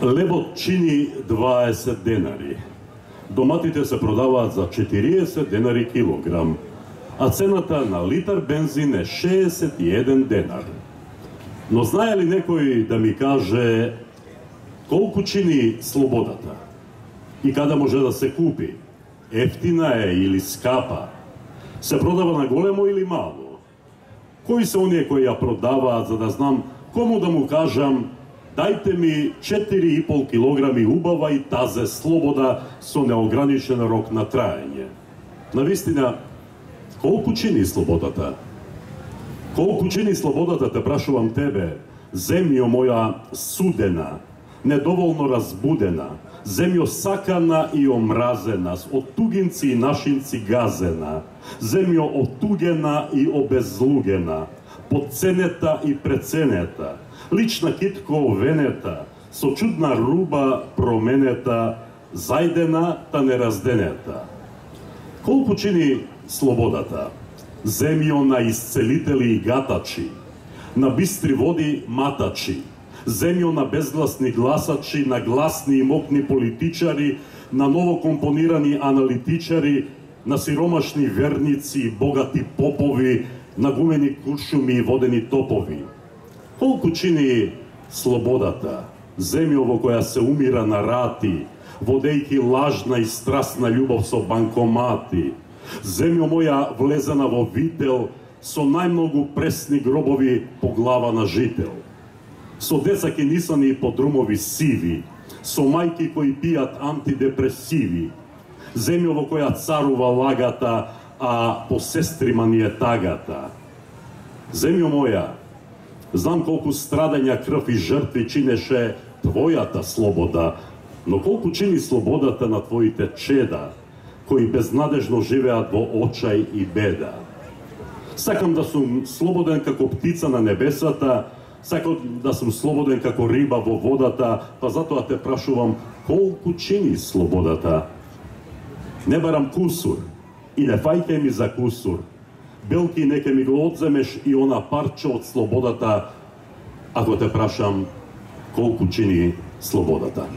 Лебот чини 20 денари. Доматите се продаваат за 40 денари килограм, а цената на литар бензин е 61 денар. Но знае ли некој да ми каже колку чини слободата? И каде може да се купи? Ефтина е или скапа? Се продава на големо или мало? Кои се оние кои ја продаваат, за да знам кому да му кажам: дајте ми 4,5 килограми убава и тазе слобода со неограничен рок на траење. Навистина, колку чини слободата? Колку чини слободата, те прашувам тебе, земјо моја судена, недоволно разбудена, земјо сакана и омразена, од тугинци и нашинци газена, земјо отугена и обезлугена, подценета и преценета, лична китко овенета, со чудна руба променета, зајдена та неразденета. Колку чини слободата? Земјо на исцелители и гатачи, на бистри води матачи, земјо на безгласни гласачи, на гласни и мокни политичари, на новокомпонирани аналитичари, на сиромашни верници и богати попови, на гумени куршуми и водени топови. Колку чини слободата? Земјо во која се умира на рати, водејќи лажна и страстна љубов со банкомати. Земјо моја влезена во вител, со најмногу пресни гробови по глава на жител. Со деца кенисани и подрумови сиви, со мајки кои пијат антидепресиви. Земјо во која царува лагата, а по сестрима ни е тагата. Земјо моја, знам колку страдања, крв и жртви чинеше твојата слобода, но колку чини слободата на твоите чеда, кои безнадежно живеат во очај и беда. Сакам да сум слободен како птица на небесата, сакам да сум слободен како риба во водата, па затоа те прашувам колку чини слободата. Не барам кусур и не фајте ми за кусур. Белки нека ми го одземеш и она парче од слободата, ако те прашам колку чини слободата.